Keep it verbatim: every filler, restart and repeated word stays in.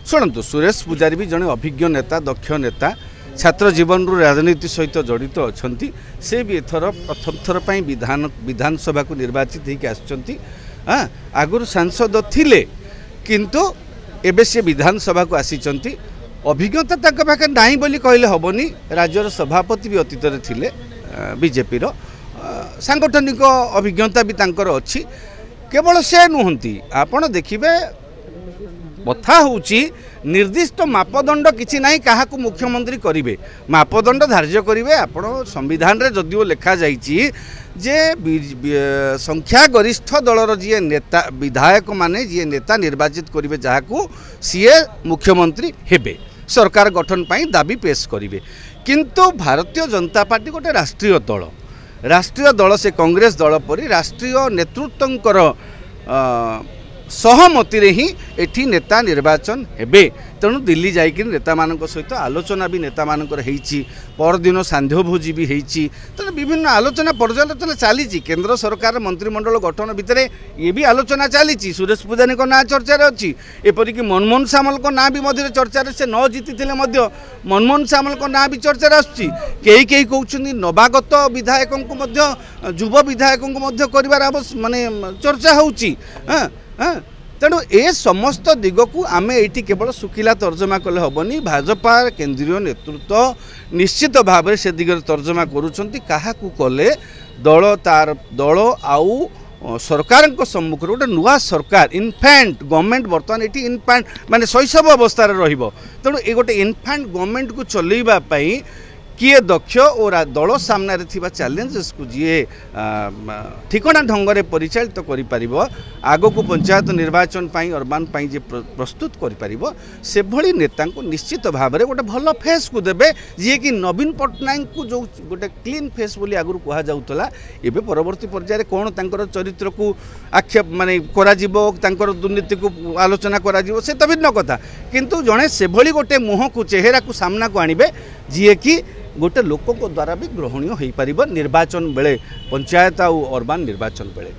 ଶୁଣନ୍ତୁ, ସୁରେଶ ପୂଜାରୀ ବି ଜଣେ ଅଭିଜ୍ଞ ନେତା, ଦକ୍ଷ ନେତା, ଛାତ୍ର ଜୀବନରୁ ରାଜନୀତି ସହିତ ଜଡ଼ିତ ଅଛନ୍ତି। ସେ ବି ଏଥର ପ୍ରଥମ ଥର ପାଇଁ ବିଧାନ ବିଧାନସଭାକୁ ନିର୍ବାଚିତ ହେଇକି ଆସିଛନ୍ତି। ହଁ, ଆଗରୁ ସାଂସଦ ଥିଲେ, କିନ୍ତୁ ଏବେ ସେ ବିଧାନସଭାକୁ ଆସିଛନ୍ତି। ଅଭିଜ୍ଞତା ତାଙ୍କ ପାଖରେ ନାହିଁ ବୋଲି କହିଲେ ହେବନି। ରାଜ୍ୟର ସଭାପତି ବି ଅତୀତରେ ଥିଲେ ବିଜେପିର, ସାଂଗଠନିକ ଅଭିଜ୍ଞତା ବି ତାଙ୍କର ଅଛି। କେବଳ ସେ ନୁହନ୍ତି, ଆପଣ ଦେଖିବେ, କଥା ହେଉଛି ନିର୍ଦ୍ଦିଷ୍ଟ ମାପଦଣ୍ଡ କିଛି ନାହିଁ କାହାକୁ ମୁଖ୍ୟମନ୍ତ୍ରୀ କରିବେ। ମାପଦଣ୍ଡ ଧାର୍ଯ୍ୟ କରିବେ ଆପଣ ସମ୍ବିଧାନରେ ଯଦିଓ ଲେଖାଯାଇଛି ଯେ ସଂଖ୍ୟାଗରିଷ୍ଠ ଦଳର ଯିଏ ନେତା, ବିଧାୟକମାନେ ଯିଏ ନେତା ନିର୍ବାଚିତ କରିବେ ଯାହାକୁ, ସିଏ ମୁଖ୍ୟମନ୍ତ୍ରୀ ହେବେ, ସରକାର ଗଠନ ପାଇଁ ଦାବି ପେଶ କରିବେ। କିନ୍ତୁ ଭାରତୀୟ ଜନତା ପାର୍ଟି ଗୋଟେ ରାଷ୍ଟ୍ରୀୟ ଦଳ। ରାଷ୍ଟ୍ରୀୟ ଦଳ ସେ କଂଗ୍ରେସ ଦଳ ପରି ରାଷ୍ଟ୍ରୀୟ ନେତୃତ୍ୱଙ୍କର ସହମତିରେ ହିଁ ଏଠି ନେତା ନିର୍ବାଚନ ହେବେ। ତେଣୁ ଦିଲ୍ଲୀ ଯାଇକରି ନେତାମାନଙ୍କ ସହିତ ଆଲୋଚନା ବି ନେତାମାନଙ୍କର ହେଇଛି, ପରଦିନ ସାନ୍ଧ୍ୟ ଭୋଜି ବି ହେଇଛି। ତେଣୁ ବିଭିନ୍ନ ଆଲୋଚନା ପର୍ଯ୍ୟାଲୋଚନା ଚାଲିଛି। କେନ୍ଦ୍ର ସରକାର ମନ୍ତ୍ରିମଣ୍ଡଳ ଗଠନ ଭିତରେ ଇଏ ବି ଆଲୋଚନା ଚାଲିଛି। ସୁରେଶ ପୂଜାରୀଙ୍କ ନାଁ ଚର୍ଚ୍ଚାରେ ଅଛି, ଏପରିକି ମନମୋହନ ସାମଲଙ୍କ ନାଁ ବି ମଧ୍ୟରେ ଚର୍ଚ୍ଚାରେ। ସେ ନ ଜିତିଥିଲେ ମଧ୍ୟ ମନମୋହନ ସାମଲଙ୍କ ନାଁ ବି ଚର୍ଚ୍ଚାରେ ଆସୁଛି। କେହି କେହି କହୁଛନ୍ତି ନବାଗତ ବିଧାୟକଙ୍କୁ ମଧ୍ୟ, ଯୁବ ବିଧାୟକଙ୍କୁ ମଧ୍ୟ କରିବାର ଆବଶ୍ୟ ମାନେ ଚର୍ଚ୍ଚା ହେଉଛି। ହଁ ହଁ, ତେଣୁ ଏ ସମସ୍ତ ଦିଗକୁ ଆମେ ଏଇଠି କେବଳ ଶୁଖିଲା ତର୍ଜମା କଲେ ହେବନି। ଭାଜପା କେନ୍ଦ୍ରୀୟ ନେତୃତ୍ୱ ନିଶ୍ଚିତ ଭାବରେ ସେ ଦିଗରେ ତର୍ଜମା କରୁଛନ୍ତି, କାହାକୁ କଲେ ଦଳ ତାର ଦଳ ଆଉ ସରକାରଙ୍କ ସମ୍ମୁଖରେ ଗୋଟେ ନୂଆ ସରକାର, ଇନଫାଣ୍ଟ ଗଭର୍ଣ୍ଣମେଣ୍ଟ, ବର୍ତ୍ତମାନ ଏଠି ଇନଫାଣ୍ଟ ମାନେ ଶୈଶବ ଅବସ୍ଥାରେ ରହିବ। ତେଣୁ ଏ ଗୋଟେ ଇନଫାଣ୍ଟ ଗଭର୍ଣ୍ଣମେଣ୍ଟକୁ ଚଲେଇବା ପାଇଁ କିଏ ଦକ୍ଷ ଓ ଦଳ ସାମ୍ନାରେ ଥିବା ଚ୍ୟାଲେଞ୍ଜେସକୁ ଯିଏ ଠିକଣା ଢଙ୍ଗରେ ପରିଚାଳିତ କରିପାରିବ, ଆଗକୁ ପଞ୍ଚାୟତ ନିର୍ବାଚନ ପାଇଁ, ଅର୍ବାନ ପାଇଁ ଯିଏ ପ୍ରସ୍ତୁତ କରିପାରିବ, ସେଭଳି ନେତାଙ୍କୁ ନିଶ୍ଚିତ ଭାବରେ ଗୋଟେ ଭଲ ଫେସ୍କୁ ଦେବେ। ଯିଏକି ନବୀନ ପଟ୍ଟନାୟକଙ୍କୁ ଯେଉଁ ଗୋଟେ କ୍ଲିନ୍ ଫେସ୍ ବୋଲି ଆଗରୁ କୁହାଯାଉଥିଲା, ଏବେ ପରବର୍ତ୍ତୀ ପର୍ଯ୍ୟାୟରେ କ'ଣ ତାଙ୍କର ଚରିତ୍ରକୁ ଆକ୍ଷେପ ମାନେ କରାଯିବ, ତାଙ୍କର ଦୁର୍ନୀତିକୁ ଆଲୋଚନା କରାଯିବ, ସେ ତ ଭିନ୍ନ କଥା। କିନ୍ତୁ ଜଣେ ସେଭଳି ଗୋଟେ ମୁହଁକୁ, ଚେହେରାକୁ ସାମ୍ନାକୁ ଆଣିବେ ଯିଏକି ଗୋଟେ ଲୋକଙ୍କ ଦ୍ୱାରା ବି ଗ୍ରହଣୀୟ ହୋଇପାରିବ ନିର୍ବାଚନ ବେଳେ, ପଞ୍ଚାୟତ ଆଉ ଅର୍ବାନ ନିର୍ବାଚନ ବେଳେ।